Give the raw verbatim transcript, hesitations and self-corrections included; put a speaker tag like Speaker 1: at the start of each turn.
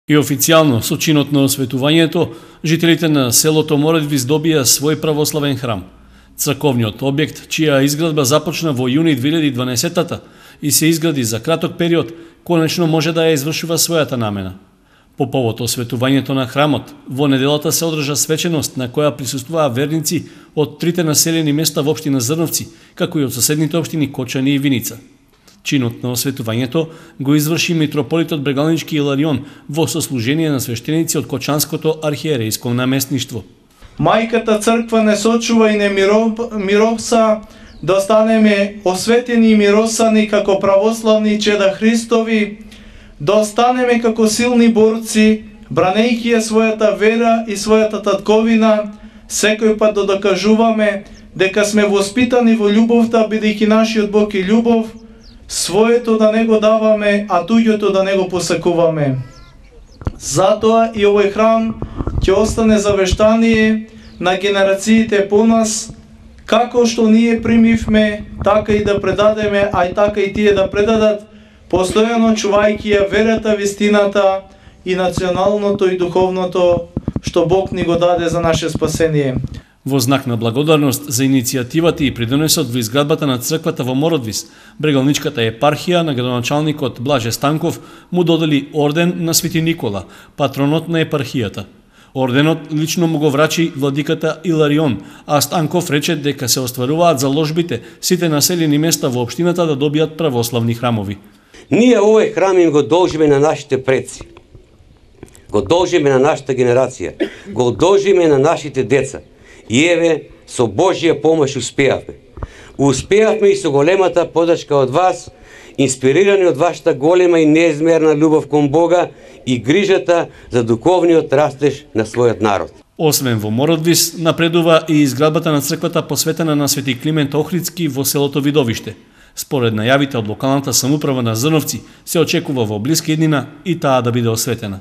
Speaker 1: И официјално, со чинот на осветувањето, жителите на селото Мородвис добија свој православен храм. Црковниот објект, чија изградба започна во јуни две илјади и дванаесеттата и се изгради за краток период, конечно може да ја извршува својата намена. По повод осветувањето на храмот, во неделата се одржа свеченост на која присуствуваа верници од трите населени места во општина Зрновци, како и од соседните општини Кочани и Виница. Чинот на осветувањето го изврши митрополитот Брегалнички Иларион во сослужение на свештеници од Кочанското архиерејско наместништво.
Speaker 2: Мајката црква не сочува и не мироса да останеме осветени и миросани како православни чеда Христови, да останеме како силни борци, бранејќи ја својата вера и својата татковина, секој пат да докажуваме дека сме воспитани во љубовта, бидејќи нашиот Бог е љубов, своето да не го даваме, а туѓото да не го посакуваме. Затоа и овој храм ќе остане завештание на генерациите по нас, како што ние примивме, така и да предадеме, а и така и тие да предадат, постојано чувајќи ја верата, вистината и националното и духовното што Бог ни го даде за наше спасение.
Speaker 1: Во знак на благодарност за иницијативата и придонесот во изградбата на црквата во Мородвис, Брегалничката епархија на градоначалникот Блаже Станков му додели орден на Свети Никола, патронот на епархијата. Орденот лично му го врачи владиката Иларион, а Станков рече дека се остваруваат заложбите сите населени места во општината да добијат православни храмови.
Speaker 3: Ние овој храм им го должиме на нашите предци, го должиме на нашата генерација, го должиме на нашите деца. И еве, со Божја помош успеавме. Успеавме и со големата подршка од вас, инспирирани од вашата голема и неизмерна љубов кон Бога и грижата за духовниот растеж на својот народ.
Speaker 1: Освен во Мородвис, напредува и изградбата на црквата посветена на Свети Климент Охридски во селото Видовиште. Според најавите од локалната самоуправа на Зрновци, се очекува во блиска иднина и таа да биде осветена.